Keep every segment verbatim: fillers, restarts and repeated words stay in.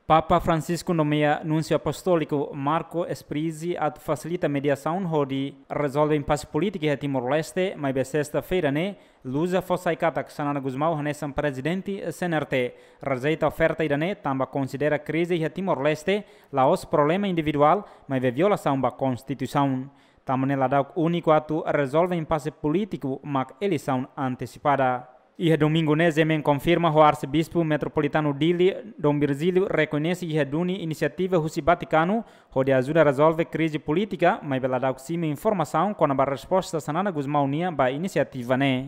Papa Francisco nomeia Núnsiu Apostóliku Marco Sprizzi atu fasilita mediasaun hodi rezolve impase polítika iha Timor-Leste, maibé sesta-feira ne'e, Luza fó sai katak Xanana Gusmão hanesan prezidente C N R T rejeita oferta ida-ne'e tanba konsidera krize iha Timor-Leste la'ós problema individuál, maibé violasaun ba konstituisaun. Tanba ne'e ladauk úniku atu rezolve impase polítiku mak eleisaun antesipada. Iha domingu ne'e, G M N konfirma ho Arsebispu Metropolitanu Dili, Dom Virgílio, rekoñese iha duni inisiativa husi Vatikanu hodi ajuda rezolve krize polítika, maibé ladauk simu informasaun kona-ba resposta Xanana Gusmão nian ba inisiativa ne'e.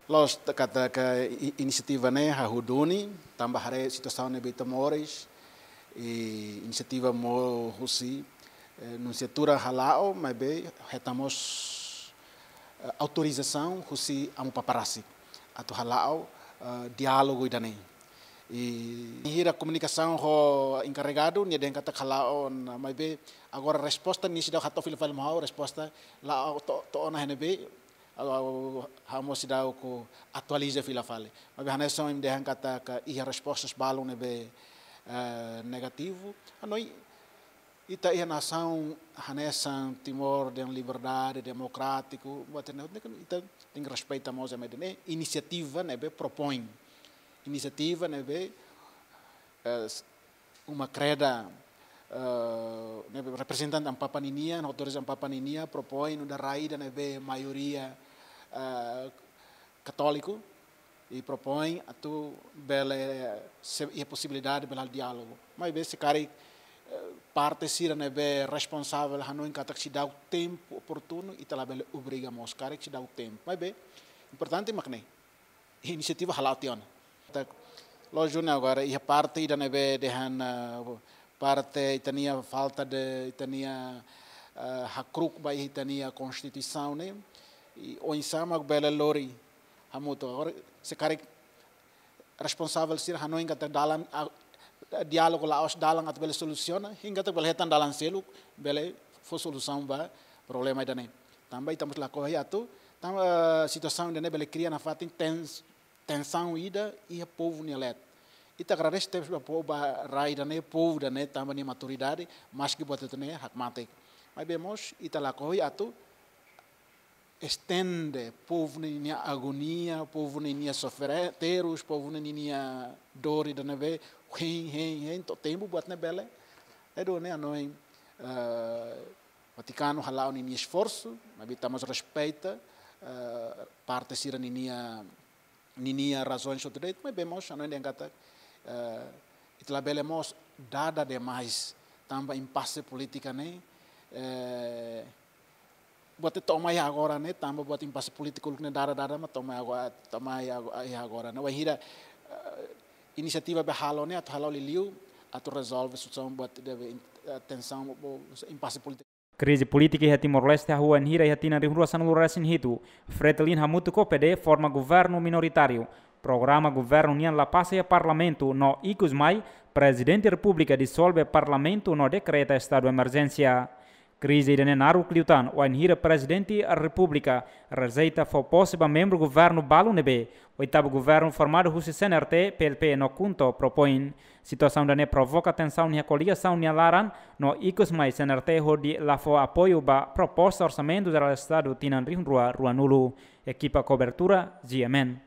La'ós katak i-, inisiativa ne'e hahú duni, tanba haree situasaun ne'ebé ita moris, i inisiativa mós husi, eh, Nunsiatura hala'o, maibé hetan mós, eh, autorizasaun husi Amu Papa rasik atu hala'o, eh, diálogu ida-ne'e. I hira komunikasaun ho enkarregadu, nia dehan katak hala'o ona, maibé agora resposta nia seidauk hato'o fila fali mai ha'u, resposta la'o to'o, to'o ona iha ne'ebé, ha'u, ha'u mós seidauk atualiza fila fali. Maibé hanesan ohin dehan katak iha respostas balun ne'ebé, eh, negativu. Hanoin ita iha nasaun hanesan Timor nia liberdade, demokrátiku, buat ne'e, ita tenke respeita mós ema ida-ne'e, inisiativa ne'ebé propoin. Inisiativa ne'ebé, eh, uma kreda, eh, ne'ebé reprezentante Amu Papa ninian, autores Amu Papa ninian, propoin nu'udar rai ida ne'ebé maioria, eh, katóliku, i propoin atu bele, se iha posibilidade bele halo diálogu. Maibé se karik, eh, parte sira ne'ebé responsavel hanoin katak seidauk tempu oportunu, ita labele obriga mós karik seidauk tempu. Maibé importante mak ne'e, inisiativa hala'o tiha ona. Lójiku ne'e agora iha parte ida ne'ebé dehan, eh, parte ita-nia falta de, ita-nia, eh, hakruuk ba ita-nia konstituisaun ne'e, i oinsá mak bele lori hamutuk. Agora se karik responsavel sira hanoin katak dalan, ah, diálogu la'ós dalan atu bele solusiona, hein katak bele hetan dalan seluk bele fó solusaun ba problema ida-ne'e. Tanba ita mós lakohi atu, tanba situasaun ida-ne'e bele kria nafatin tens-, tensaun ida iha povu nia leet. Ita agradese tebes ba povu, ba rai ida-ne'e, povu ida-ne'e tanba nia maturidade, maski buat ida-ne'e hakmatek. Maibé mós ita lakohi atu estende povu ninia agonia, povu ninia sofre-, terus, povu ninia dór ida ne'ebé hein, hein, hein to'o tempu buat ne'e bele. Entaun ne'e hanoin, eh, Vatikanu hala'o ninia esforsu, maibé ita mós respeita, eh, parte sira ninia, ninia razaun sosiál, maibé mós hanoin dehan katak, eh, ita labele mós dada demais, tanba impase polítika ne'e, eh, buat ne'e to'o mai agora ne'e, tanba buat impase polítiku ne'e dada, dada, mas to'o mai agora, to'o mai ago-, iha agora ne'e. Wainhira, eh, inisiativa be halo ne'e, atu halo liuliu, atu rezolve situasaun buat ne'ebé in-, eh, tensaun, bo-, impase polítiku. Krize polítika iha Timor-Leste hahú wainhira iha tinan rihun rua sanulu resin hitu, Fretilin hamutuk ho P D forma governu minoritáriu. Programa governu nian la pasa iha Parlamentu no ikus mai, Prezidente Repúblika disolve Parlamentu no dekreta estadu emerjénsia. Krize ida-ne'e naruk liután, wainhira Prezidente Repúblika rejeita fó pose ba membru governu balu ne'ebé oitavu governu formadu husi C N R T, P L P no KHUNTO propoin. Situasaun ida-ne'e provoka tensaun iha koligasaun nia laran, no ikus mai C N R T hodi la fó apoiu ba proposta Orsamentu Jerál Estadu tinan rihun rua ruanulu. Ekipa kobertura, G M N.